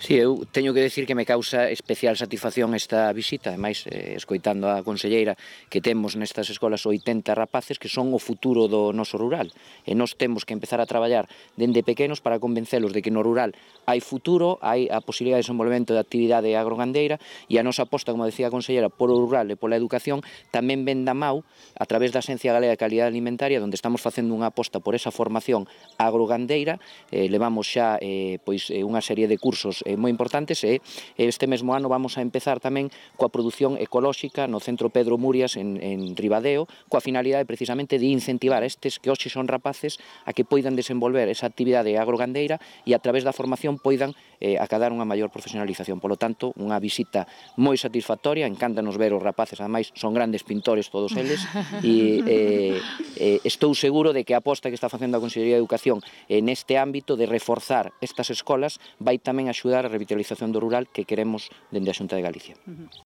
Sí, eu teño que decir que me causa especial satisfacción esta visita, ademais, escoitando a conselleira, que temos nestas escolas 80 rapaces que son o futuro do noso rural, e nós temos que empezar a traballar dende pequenos para convencelos de que no rural hai futuro, hai a posibilidade de desenvolvemento de actividade agrogandeira, e a nosa aposta, como decía a conselleira, polo rural e pola educación, tamén ven da mau, a través da Axencia Galega de Calidade Alimentaria, onde estamos facendo unha aposta por esa formación agrogandeira, levamos xa unha serie de cursos moi importantes, e este mesmo ano vamos a empezar tamén coa produción ecolóxica no Centro Pedro Murias en Ribadeo, coa finalidade precisamente de incentivar a estes que hoxe son rapaces a que poidan desenvolver esa actividade agrogandeira e a través da formación poidan acadar unha maior profesionalización. Polo tanto, unha visita moi satisfactoria, encántanos ver os rapaces, ademais son grandes pintores todos eles, e estou seguro de que a aposta que está facendo a Consellería de Educación neste ámbito de reforzar estas escolas vai tamén axudar a revitalización do rural que queremos dende a Xunta de Galicia.